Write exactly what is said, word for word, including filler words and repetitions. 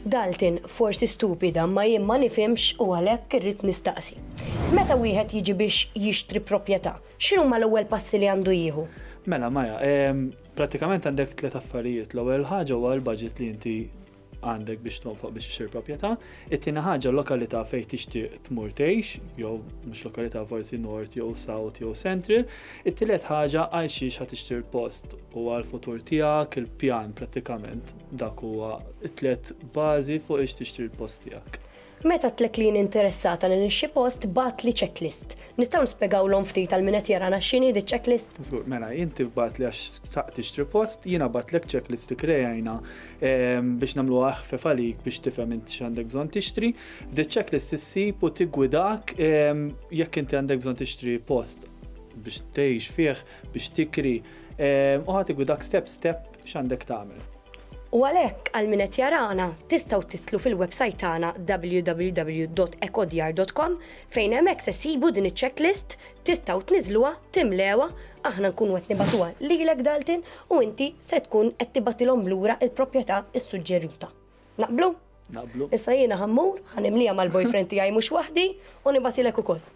Dalton, forsi stupida, ma jien ma nifhimx u għalhekk irrid nistaqsi. Meta wieħed jiġi biex jixtri proprjetà, x'inhuma l-ewwel passi li għandu jieħu? Mela, Maja, em, pratikament għandek tliet affarijiet. L-ewwel ħaġa huwa l-budget li inti għandek biex tonfoq biex tixtri proprjetà. It-tieni ħaġa, lokalità fejn tixtieq tmur tgħix, jew mhux lokalità, forsi north jew south jew central. It-tielet ħaġa, għal xiex ħa tixtri l-post u għal futur tiegħek, il-pjan prattikament dak huwa it-tliet bażi fuq ix tixtri l-post tiegħek. Meta għedtlek li jien interessata li nixtri post, bgħattli checklist. Nistgħu nispjegawlhom ftit għal min qed jarana x'inhi di checklist? Żgur, mela, inti bgħattli għax xtaqt tixtri post, jiena bgħattlek checklist li krejajna em, biex nagħmlu aħfef għalik biex tifhem inti x'għandek bżonn tixtri. F'di checklist issib u tiggwidak em, jekk inti għandek bżonn tixtri post biex tgħix fih, biex tikri, em, u ħa tiggwidak step step x'għandek tagħmel. U għalhekk, għal min qed jarana, tistgħu tidħlu fil-website tagħna w w w punt ekodjar punt com fejn hemmhekk se ssibu din iċ-checklist, tistgħu tniżluha, timlewha, aħna nkunu qed nibagħtuha lilek, Dalton, u inti se tkun qed tibgħatilhom lura il-proprjetà issuġġeruta. Naqblu? Naqblu. Issa jiena ħa mmur, ħa nimlieha mal-boyfriend tiegħi, mhux waħdi, u nibgħatilek ukoll.